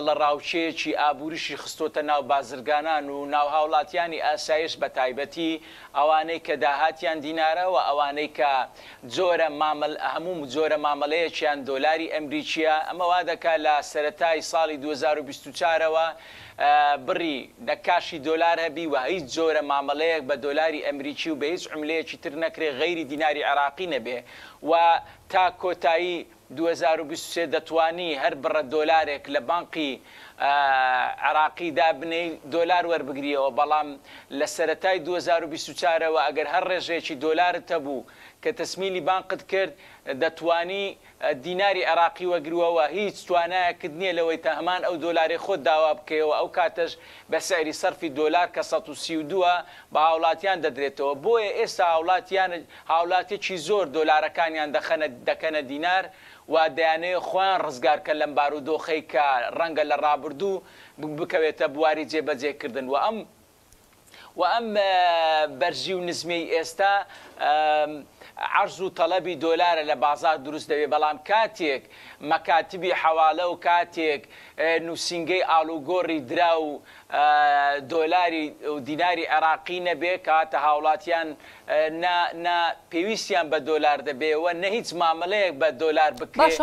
دڵەڕاوکێیەکی ئابووریشی خستۆتە ناو بازرگانان و ناو هاوڵاتیانی ئاسایش بە تایبەتی ئەوانەی کە داهاتیان دینارە و ئەوانەی کە جۆرە مامەل هەموو جۆرە مامەلەیەکیان دۆلاری ئەمریکیە ئەمە وا دەکا لە سەرەتای ساڵی 2024 ەوە بڕی نە کاشی دۆلار هەبی و هیچ جۆرە مامەلەیەک بە دۆلاری ئەمریکی و بە هیچ عوملەیەکی تر نەکرێ غەیری دیناری عێراقی نەبێ و تا کۆتایی 2023 دەتوانی هەر بڕە دۆلارێک لە بانقی عێراقی دابنێی دۆلار وەربگریەوە، بەڵام لە سەرەتای 2024 ەوە ئەگەر هەر ڕێژەیەکی دۆلارت هەبوو کە تەسمیلی بانقت کرد دەتوانی دیناری عێراقی وەگروەوە، هیچ توانایەکت نیە لەوەی تا هەمان ئەو دۆلارەی خۆت داوا بکەیەوە ئەو کاتەش بە سعری سەرفی دۆلار کە 132 ە بە هاوڵاتیان دەدرێتەوە، بۆیە ئێستا هاوڵاتیان هاوڵاتیەکی زۆر دۆلارەکانیان دەخەنە دەکەنە دینار و دەیانەوێت خۆیان ڕزگار کەن لەم بارودۆخەی کە ڕەنگە لە ڕابردوو بکەوێتە بواری جێبەجێ کردن و ئەم و ئەم بەرزی و نزمیەی ئێستا عەرز و تەڵەبی دۆلارە لە بازاڕ دروست دەبێت بەڵام کاتێک مەکاتبی حەواڵە و کاتێک نوسینگەی ئاڵوگۆڕی دراو دۆلاری و دیناری عێراقی نەبێ کەواتە هاوڵاتیان نا نا پێویستیان بە دۆلار دەبێ و نە هیچ مامەلەیەک بە دۆلار بکرێ. باشە.